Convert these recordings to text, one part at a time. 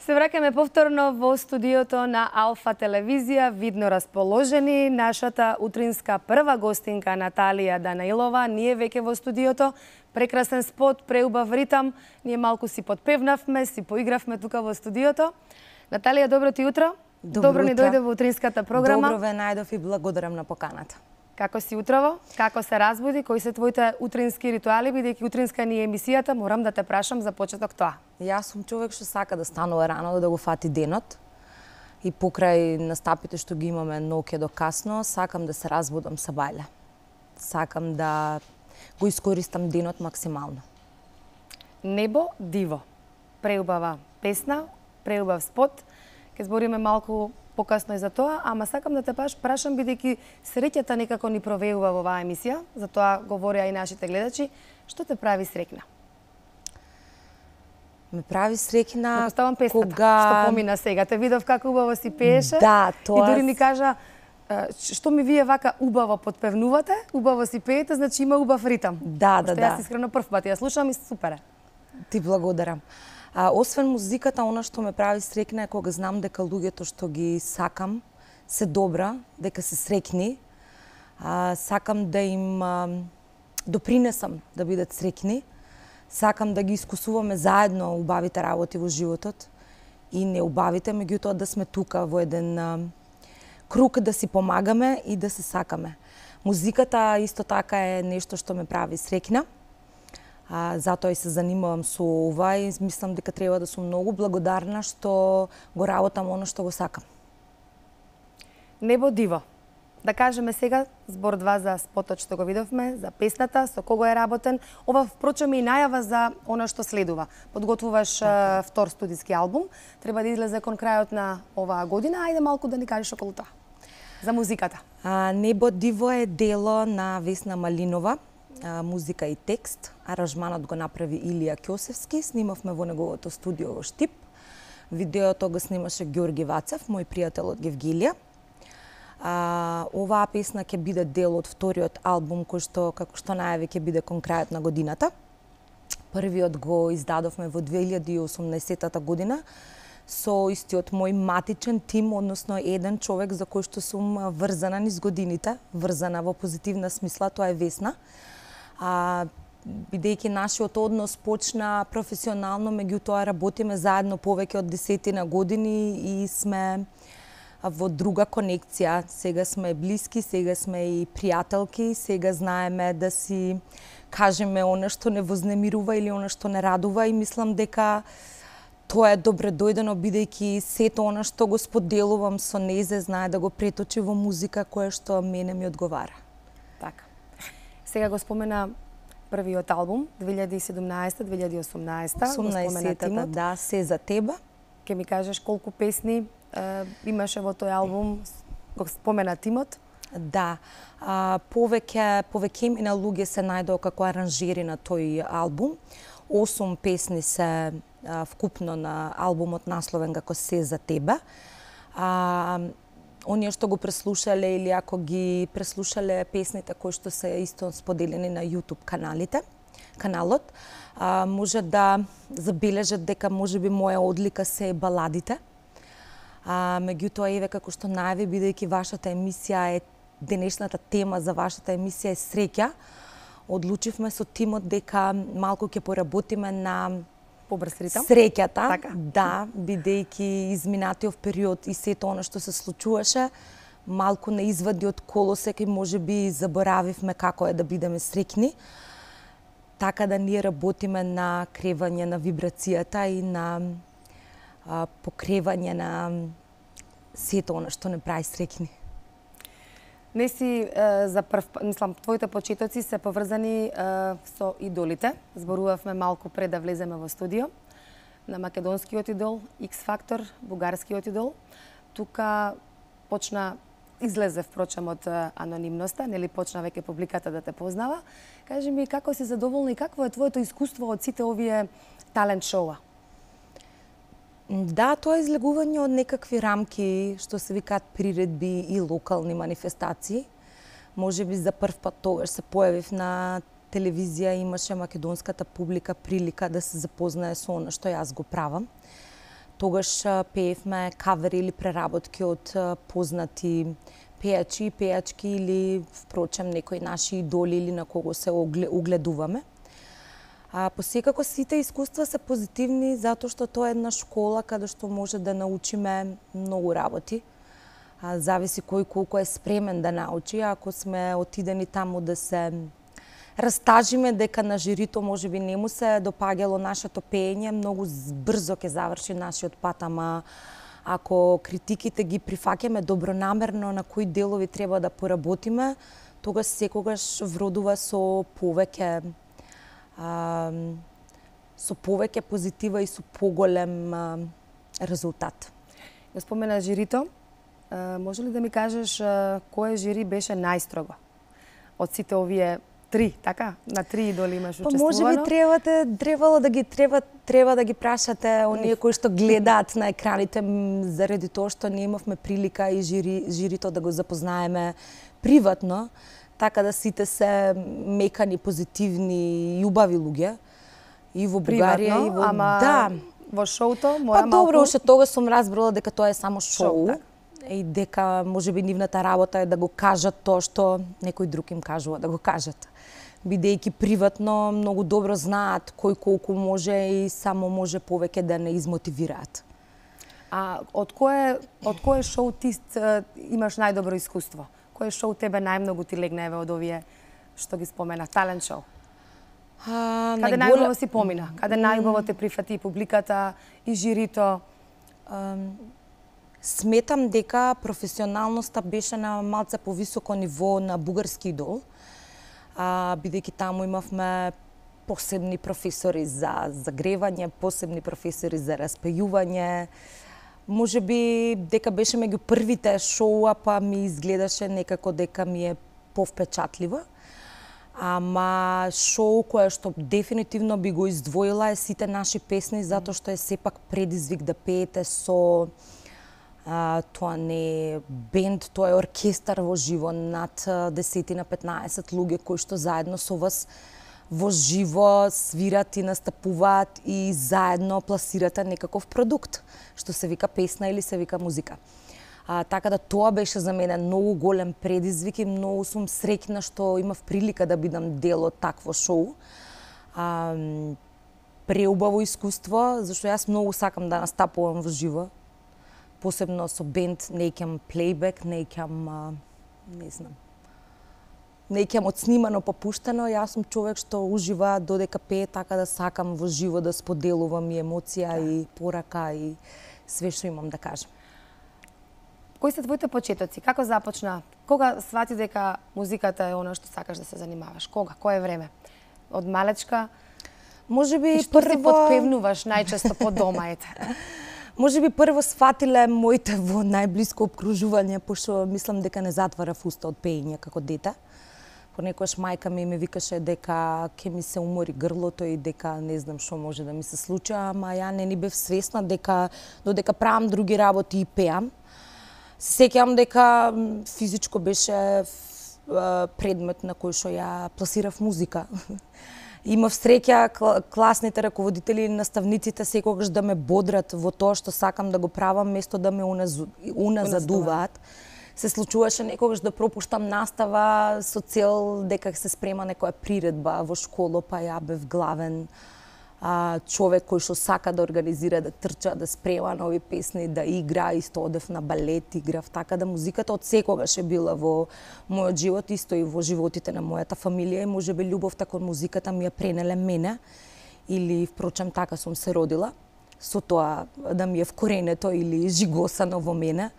Се враќаме повторно во студиото на Алфа телевизија, видно расположени. Нашата утринска прва гостинка Наталија Данаилова, ние веќе во студиото. Прекрасен спот, преубав ритам. Ние малку си подпевнавме, си поигравме тука во студиото. Наталија, добро ти утро. Добро ни дојде во утринската програма. Добро ве најдов и благодарам на поканата. Како си утрово? Како се разбуди? Кои се твоите утрински ритуали? Бидејќи утринска ни е емисијата, морам да те прашам за почеток тоа. Јас сум човек што сака да станува рано, да го фати денот. И покрај настапите што ги имаме ноќе до касно, сакам да се разбудам со бајле. Сакам да го искористам денот максимално. Небо диво. Преубава песна, преубав спот. Ке збориме малку покасно и за тоа, ама сакам да те прашам бидејќи среќата некако ни провеува во оваа емисија, за тоа говореа и нашите гледачи, што те прави среќна? Ме прави среќна Предпоставам песната, кога што помина сега. Те видов како убаво си пееше. Да, тоа. И дури ни кажа што ми вие вака убаво потпевнувате, убаво си пеете, значи има убав ритам. Да. Јас искрено прв пат ја слушам и супер е. Ти благодарам. Освен музиката, она што ме прави среќна е кога знам дека луѓето што ги сакам се добра, дека се среќни. Сакам да им допринесам да бидат среќни. Сакам да ги искусуваме заедно убавите работи во животот и неубавите, меѓутоа да сме тука во еден круг да си помагаме и да се сакаме. Музиката исто така е нешто што ме прави среќна. Затоа и се занимавам со ова и мислам дека треба да сум многу благодарна што го работам оно што го сакам. Небо диво. Да кажеме сега збор два за спотот што го видовме, за песната, со кого е работен. Ова впрочем и најава за она што следува. Подготвуваш втор студиски албум, треба да излезе кон крајот на оваа година. Ајде малку да ни кажеш околу тоа. За музиката. Небо диво е дело на Весна Малинова. Музика и текст. Аранжманот го направи Илија Ќосевски. Снимавме во неговото студио во Штип. Видеото го снимаше Ѓорги Вацев, мој пријател од Гевгилија. Оваа песна ќе биде дел од вториот албум кој што, како што најави, ќе биде кон крајот на годината. Првиот го издадовме во 2018 година со истиот мој матичен тим, односно еден човек за кој што сум врзана низ годините, врзана во позитивна смисла, тоа е Весна. Бидејќи нашиот однос почна професионално, меѓутоа работиме заедно повеќе од 10 години и сме во друга конекција. Сега сме блиски, сега сме и пријателки, сега знаеме да си кажеме она што не вознемирува или она што не радува и мислам дека тоа е добре дојдено бидејќи сето она што го споделувам со незе знае да го преточи во музика која што мене ми одговара. Така. Сега го спомена првиот албум 2017-2018. 18-та, да, Се за тебе. Ке ми кажеш колку песни имаше во тој албум, го спомена тимот? Да, повеќе имена луѓе се најдоа како аранжери на тој албум. 8 песни се вкупно на албумот насловен како Се за тебе. Оние што го преслушале или ако ги преслушале песните кои што се исто споделени на YouTube каналот, може да забележат дека можеби моја одлика се баладите. Меѓутоа еве како што најави, бидејќи вашата емисија е денешната тема за вашата емисија е среќа, одлучивме со тимот дека малку ќе поработиме на побрз ритам. Среќата, така. Да, бидејќи изминатиот период и сето она што се случуваше, малку не извади од колосек и можеби заборавивме како е да бидеме среќни. Така да ние работиме на кревање на вибрацијата и на покревање на сето она што не прави среќни. Не си за прв, мислам, твоите почетоци се поврзани со идолите. Зборувавме малку пред да влеземе во студио на македонскиот идол, X Factor, бугарскиот идол. Тука излезе впрочем од анонимноста, нели почна веќе публиката да те познава. Кажи ми како си задоволна и какво е твоето искуство од сите овие талент шоуа? Да, тоа е излегување од некакви рамки, што се викаат приредби и локални манифестации. Можеби за прв пат тогаш се појавив на телевизија, имаше македонската публика прилика да се запознае со она што јас го правам. Тогаш пеевме кавери или преработки од познати пејачи и пејачки или впрочем некои наши идоли или на кого се угледуваме. Посекако сите искуства се позитивни затоа што тоа е една школа каде што може да научиме многу работи. Зависи кој колку е спремен да научи. Ако сме отидени таму да се растажиме дека на жирито можеби не му се допаѓало нашето пеење, многу брзо ќе заврши нашиот пат, ама ако критиките ги прифаќаме добронамерно на кои делови треба да поработиме, тогаш секогаш вродува со повеќе позитива и со поголем резултат. Го спомена жирито. Може ли да ми кажеш кој жири беше најстрого од сите овие три, така? На три идоли имаш учествувано? Можеби треба да ги прашате оние кои што гледаат на екраните, заради тоа што не имавме прилика и жирито да го запознаеме приватно, така да сите се мекани, позитивни и убави луѓе. И во Бугарија, и во... Да. Во шоуто мора малку... Добро, уште тогаш сум разбрала дека тоа е само шоу. И дека можеби нивната работа е да го кажат тоа што некој друг им кажува да го кажат. Бидејќи приватно многу добро знаат кој колку може и само може повеќе да не измотивираат. Од кое шоу ти имаш најдобро искуство? Кој шоу тебе најмногу ти легна од овие што ги споменав, талент шоу? Каде најубаво си помина? Каде најубаво те прифати публиката и жирито? Сметам дека професионалноста беше на малце повисоко ниво на бугарски идол, бидејќи таму имавме посебни професори за загревање, посебни професори за распејување. Можеби дека беше меѓу првите шоуа, па ми изгледаше некако дека ми е повпечатливо. Ама шоу кое што дефинитивно би го издвоила е Сите наши песни, затоа што е сепак предизвик да пеете со тоа не е бенд, тоа е оркестар во живо, над 10-15 луѓе кои што заедно со вас во живо свират и настапуваат и заедно пласирате некаков продукт, што се вика песна или се вика музика. Така да тоа беше за мене многу голем предизвик и многу сум среќна што имав прилика да бидам дел од такво шоу. Преубаво искуство, зашто јас многу сакам да настапувам во живо. Посебно со бенд, не икам плейбек, не икам, не знам, не икам отснимано па пуштено. Јас сум човек што ужива додека пее, така да сакам во живо да споделувам и емоција и порака и све што имам да кажам. Кои се твоите почетоци? Како започна? Кога свати дека музиката е она што сакаш да се занимаваш? Кога? Кое време? Од малечка? Можеби и што прво... си подпевнуваш најчесто по дома, ете? Можеби прво сфатиле моите во најблиско обкружување, пошто мислам дека не затварав уста од пеење како дете. Понекогаш мајка ми ме викаше дека ќе ми се умори грлото и дека не знам што може да ми се случи, ама ја не ни бев свесна дека додека правам други работи и пеам. Се сеќавам дека физичко беше предмет на кој што ја пласирав музика. Имав среќа класните раководители и наставниците секогаш да ме бодрат во тоа што сакам да го правам, место да ме уназадуваат. Се случуваше некогаш да пропуштам настава со цел дека се спрема некоја приредба во школа, па ја бев главен човек кој што сака да организира, да трча, да спрема нови песни, да игра, исто одев на балет, играв, така да музиката од секогаш е била во мојот живот, исто и во животите на мојата фамилија и можеби љубовта кон музиката ми ја пренеле мене или впрочем така сум се родила, со тоа да ми е вкоренето или жигосано во мене.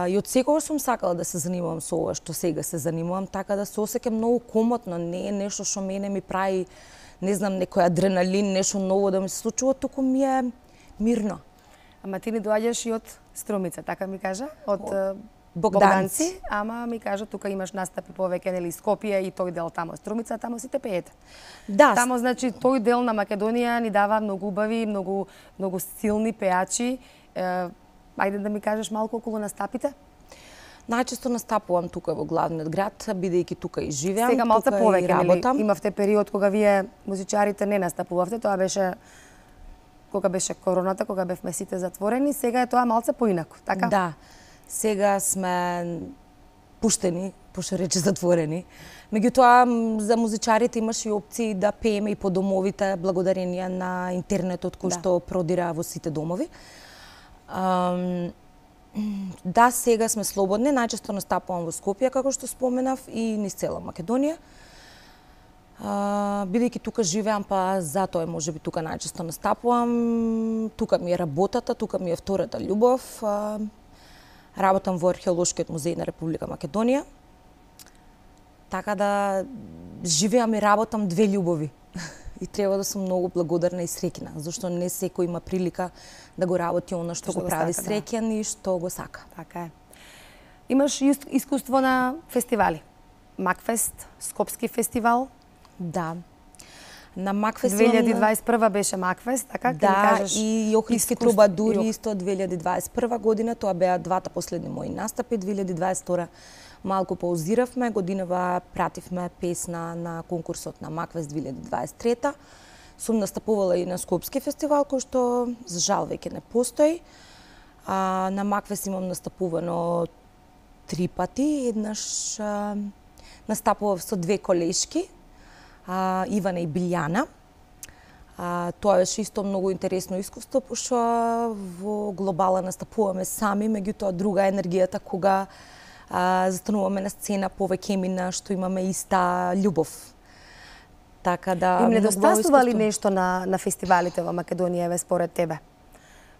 И од секогаш сум сакала да се занимавам со ова што сега се занимавам, така да се осеќам многу комотно, не е нешто што мене ми прави не знам, некој адреналин, нешто ново да ми се случува, туку ми е мирно. Ама ти ни доаѓаш и од Струмица, така ми кажа? Од Богданци. Ама ми кажа, тука имаш настапи повеќе, нели, Скопје и тој дел тамо Струмица, тамо сите пеете. Да. Тамо, значи, тој дел на Македонија ни дава многу убави, многу силни пеачи. Ајде да ми кажеш малку околу настапите? Најчесто настапувам тука во главниот град, бидејќи тука и живеам, сега малце тука повеќе, и работам. Имавте период кога вие музичарите не настапувавте, тоа беше кога беше короната, кога бевме сите затворени, сега е тоа малце поинаку, така? Да. Сега сме пуштени, пошто рече затворени. Меѓутоа, за музичарите имаше и опции да пееме и по домовите, благодарение на интернетот кој што продира во сите домови. Да, сега сме слободни, најчесто настапувам во Скопје, како што споменав, и низ цела Македонија. Бидејќи тука живеам, па затоа можеби тука најчесто настапувам. Тука ми е работата, тука ми е втората љубов. Работам во Археолошкиот музеј на Република Македонија. Така да живеам и работам две љубови. И треба да сум многу благодарна и среќна, зашто не секој има прилика да го работи она што го прави среќен и што го сака. Така е. Имаш искуство на фестивали. Макфест, Скопски фестивал. Да. На Макфест 2021 беше Макфест, така? Да, и Охридски трубадури исто 2021 година, тоа беа двата последни мои настапи. 2022 малку паузиравме, годинава пративме песна на конкурсот на Макфест 2023. Сум настапувала и на Скопски фестивал, кој што за жал веќе не постои. На Макфест имам настапувано 3 пати, еднаш настапував со две колешки, Ивана и Билјана. Тоа беше исто многу интересно искуство, пошто во глобала настапуваме сами, меѓутоа друга енергијата кога застануваме на сцена повеќе мина што имаме иста љубов. Така да им недостасува ли нешто на фестивалите во Македонија, еве според тебе?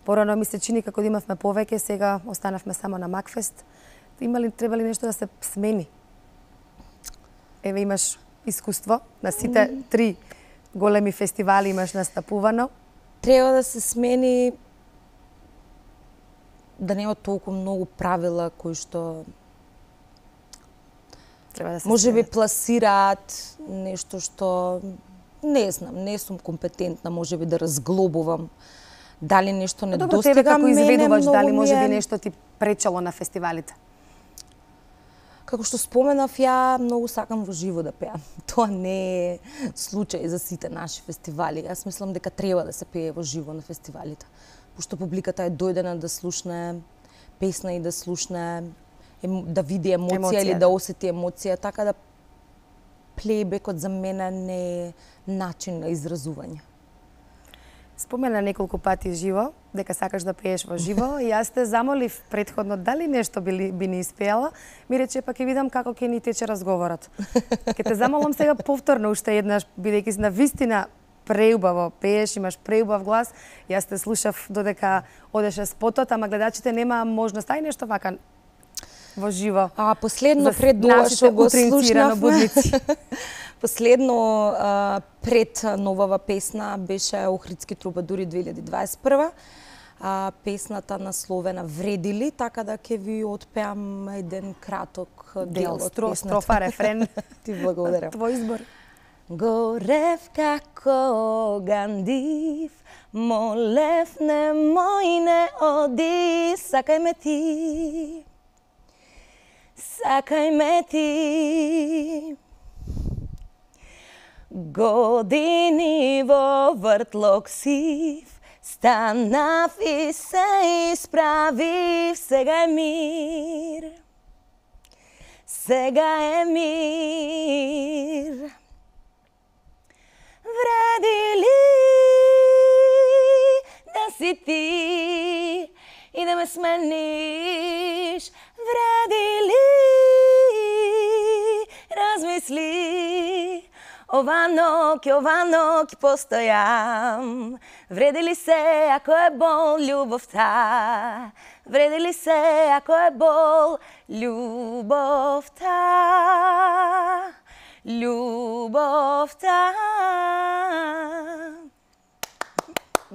Порано ми се чини како да имавме повеќе, сега останавме само на Макфест. Треба ли нешто да се смени? Еве имаш искуство на сите 3 големи фестивали имаш настапувано. Треба да се смени да нема толку многу правила кои што треба да се можеби пласираат нешто што не знам, не сум компетентна можеби да разглобувам дали нешто не достига. Тебе како изведувач, дали можеби нешто ти пречело на фестивалите? Како што споменав, ја многу сакам во живо да пеам. Тоа не е случај за сите наши фестивали. Јас мислам дека треба да се пее во живо на фестивалите. Пошто публиката е дојдена да слушне песна и да слушне, да види емоција или да осети емоција, така да плейбекот за мене не е начин на изразување. Спомена неколку пати живо, дека сакаш да пееш во живо, и јас те замолив претходно дали нешто би ни испеала, ми рече па ќе видам како ќе ни тече разговорот. Ќе те замолам сега повторно уште еднаш, бидејќи на вистина преубаво пееш, имаш преубав глас. Јас те слушав додека одеше спотот, ама гледачите немаа можност. Ај нешто вака во живо. Последно пред ова што го слушнавме. Последно пред новава песна беше Охридски трубадури 2021. Песната насловена Вреди ли, така да ќе ви отпеам еден краток дел од песната. Строфа, рефрен. Ти благодарам. Твој избор. Горев како гандив, молев немој не оди, сакај ме ти. Сакај ме ти. Години во вртлок сив, станав и се исправив, сега е мир. Сега е мир. Вреди ли да си ти и да ме смениш? Вреди ли размисли? Ова ноќ постојам. Вреди ли се ако е бол љубовта? Вреди ли се ако е бол љубовта? Љубовта.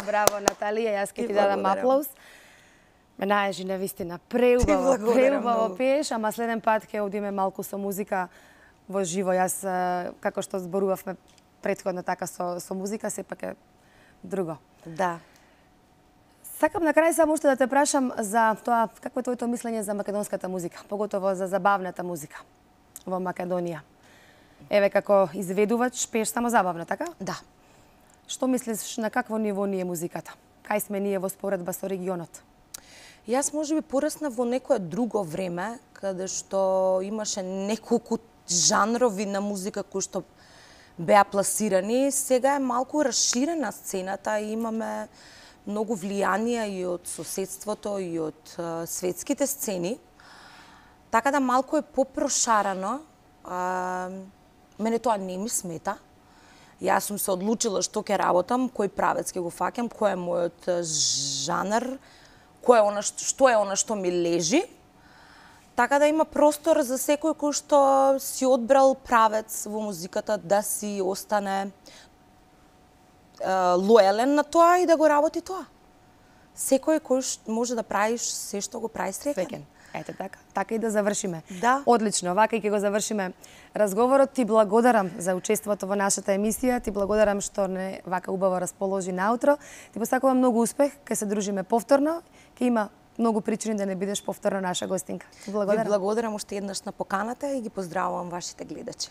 Браво, Наталија, јас ќе ти дадам аплауз. Ме најажи на вистина преубаво пееш, ама следен пат ќе одиме малку со музика во живо. Јас, како што зборувавме претходно така со музика, сепак е друго. Да. Сакам на крај само уште да те прашам за тоа, какво е твоето мислење за македонската музика, поготово за забавната музика во Македонија. Еве, како изведувач, пееш само забавно, така? Да. Што мислиш, на какво ниво ни е музиката? кај сме ние во споредба со регионот? Јас можеби пораснав во некое друго време, каде што имаше неколку жанрови на музика кои што беа пласирани. Сега е малку расширена сцената и имаме многу влијанија и од соседството и од светските сцени. Така да малку е попрошарано. Мене тоа не ми смета. Јас сум се одлучила што ќе работам, кој правец ќе го фаќам, кој е мојот жанр, што е она што ми лежи. Така да има простор за секој кој што си одбрал правец во музиката да си остане лоелен на тоа и да го работи тоа. Секој кој може да правиш се што го прави среќен. Ете така. Така и да завршиме. Да. Одлично. Вака и ќе го завршиме разговорот. Ти благодарам за учеството во нашата емисија. Ти благодарам што не вака убаво расположи наутро. Ти посакувам многу успех. Ке се дружиме повторно. Ке има многу причини да не бидеш повторно наша гостинка. Благодарам. Ви благодарам уште еднаш на поканата и ги поздравувам вашите гледачи.